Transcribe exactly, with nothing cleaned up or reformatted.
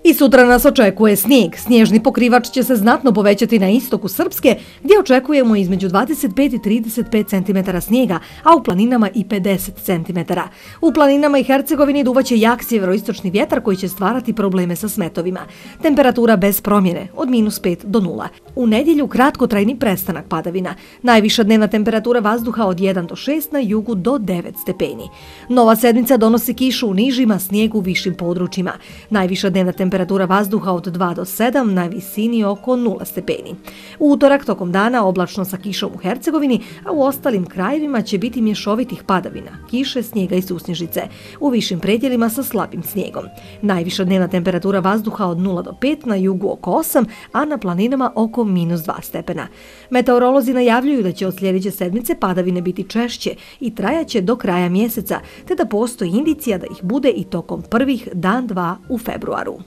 I sutra nas očekuje snijeg. Snježni pokrivač će se znatno povećati na istoku Srpske, gdje očekujemo između dvadeset pet i trideset pet centimetara snijega, a u planinama i pedeset centimetara. U planinama i Hercegovini duvaće jak sjeveroistočni vjetar koji će stvarati probleme sa smetovima. Temperatura bez promjene, od minus pet do nula. U nedjelju kratkotrajni prestanak padavina. Najviša dnevna temperatura vazduha od jedan do šest, na jugu do devet stepeni. Nova sedmica donosi kišu u nižima, snijeg u višim područjima. Najviša dnevna temperatura vazduha od dva do sedam, na visini oko nula stepeni. U utorak tokom dana oblačno sa kišom u Hercegovini, a u ostalim krajevima će biti mješovitih padavina, kiše, snijega i susnježice, u višim predjelima sa slabim snijegom. Najviša dnevna temperatura vazduha od nula do pet, na jugu oko osam, a na planinama oko minus dva stepena. Meteorolozi najavljuju da će od sljedeće sedmice padavine biti češće i trajaće do kraja mjeseca, te da postoji indicija da ih bude i tokom prvih dan dva u februaru.